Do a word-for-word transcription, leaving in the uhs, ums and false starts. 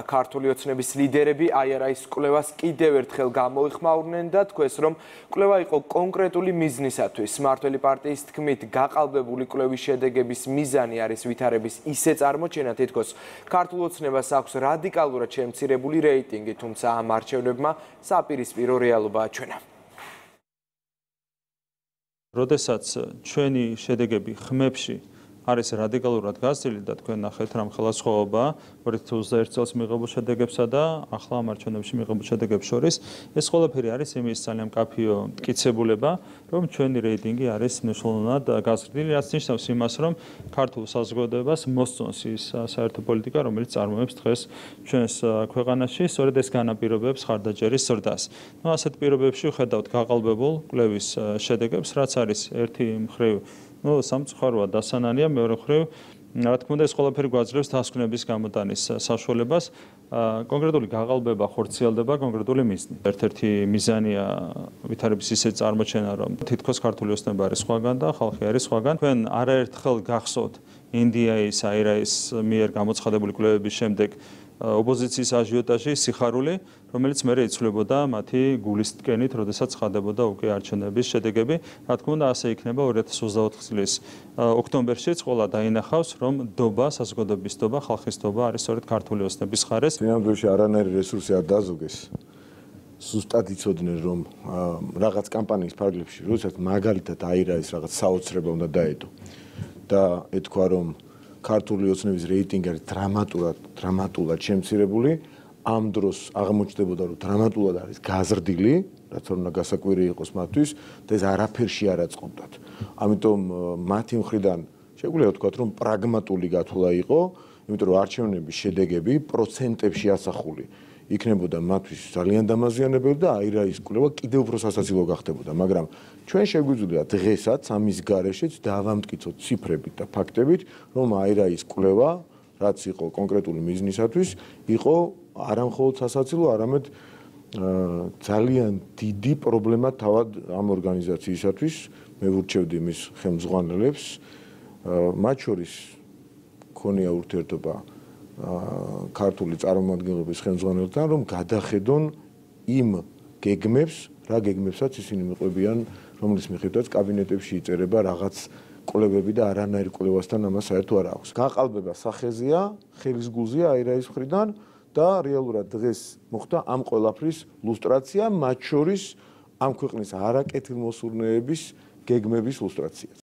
ქართული ოცნების ლიდერები აი არა ის კვლევას კიდევ ერთხელ გამოიხმაურნენ და თქვეს, რომ კვლევა იყო კონკრეტული მიზნისათვის. მმართველი პარტიის თქმით, გაყალბებული კვლევის შედეგების მიზანი არის ვითარების ისე წარმოჩენა, თითქოს ქართულ ოცნებას აქვს რადიკალურად შემცირებული რეიტინგი, თუმცა ამ არჩევნებმა საპირისპირო რეალობა აჩვენა. როდესაც ჩვენი შედეგები ხმებში არის რადიკალურად გაზრდილი და თქვენ ნახეთ რამ ხელისხმობა ორი ათი ოცდაერთი წელს მიღებულ შედეგებსა და ახლა ამ არჩევნებში მიღებულ შედეგებს შორის ეს ყველაფერი არის იმის ძალიან მკაფიო მტკიცებულება რომ ჩვენი რეიტინგი არის მნიშვნელოვნად გაზრდილი რაც ნიშნავს იმას რომ ქართულ საზოგადოებას მოსწონს ის საერთო პოლიტიკა რომელიც წარმოებს დღეს ჩვენს ქვეყანაში სწორედ ეს განაპირობებს ხარდაჭერის ზრდას. ნუ ასეთ პირობებში ვხედავთ გაყალბებულ კვლევის შედეგებს რაც არის ერთი მხრივ ну სამწუხაროა დასანანია მეორე მხრივ რა თქმა უნდა ეს ყველაფერი გვაძლევს დასკვნების გამოტანის საშუალებას კონკრეტული გაყალბება ხორციელდება კონკრეტული მიზნით. ერთ-ერთი მიზანია ვითარების ისე წარმოჩენა რომ თითქოს ქართული ოცნება არის სხვაგან და ხალხი არის სხვაგან. თქვენ არაერთხელ გახსოვთ ინდიაის აირაის მიერ გამოცხადებული კვლევების შემდეგ ოპოზიციის აჟიოტაჟი სიხარული რომელიც მერე იცვლებოდა მათი გულის ტკენით, როდესაც ხადებოდა უკვე არჩევნების შედეგები. რა თქმა უნდა, ასე იქნება ორი ათი ოცდაოთხ წლის ოქტომბერშიც ყველა დაინახავს, რომ დობა, საზოგადოების დობა, ხალხის დობა არის სწორედ ქართული ოცნების მხარეს. ფინალში არანაირი რესურსი არ დაზოგეს. სუსტად იცოდნენ, რომ რაღაც კამპანიის ფარგლებში, როდესაც მაგალითად აირაის რაღაც საოცრება უნდა დაედო და ეთქვა, რომ ქართული ოცნების რეიტინგი არის დრამატულად, დრამატულად შემცირებული. ამ დროს აღმოჩნდებოდა, რომ დრამატულად არის გაზრდილი, რაც უნდა გასაკვირი იყოს მათთვის და ეს არაფერში არ აწყობდათ. ამიტომ მათი მხრიდან შეგვიძლია ვთქვათ, რომ პრაგმატული გათვლა იყო, იმიტომ რომ არჩევნების შედეგები პროცენტებში ასახული იქნებოდა მათთვის ძალიან დამაზიანებელი და აირაის კვლევა კიდევ უფრო სასაცილო გახდებოდა, მაგრამ ჩვენ შეგვიძლია დღესაც ამის გარეშეც დავამტკიცოთ ციფრებით და ფაქტებით, რომ აირაის კვლევა, რაც იყო კონკრეტული მიზნისათვის, იყო არა მხოლოდ სასაცილო, არამედ ძალიან დიდი პრობლემა თავად ამ ორგანიზაციისათვის. მე ვურჩევდი მის ხელმძღვანელებს, მათ შორის ქონია ურთიერთობა ქართული წარმომადგენლობის ხელმძღვანელთან, რომ გადახედონ იმ გეგმებს, რა გეგმებსაც ისინი მიყვებიან, რომლის მიხედვითაც კაბინეტებში იწერება რაღაც კვლევები და არანაირ კვლევასთან ამას საერთო არ აქვს. გაყალბება სახეზეა, ხელის გულზეა აირაის მხრიდან და რეალურად დღეს მოხდა ამ ყველაფრის ლუსტრაცია, მათ შორის ამ ქვეყნის არაკეთილმოსურნეების გეგმების ლუსტრაცია.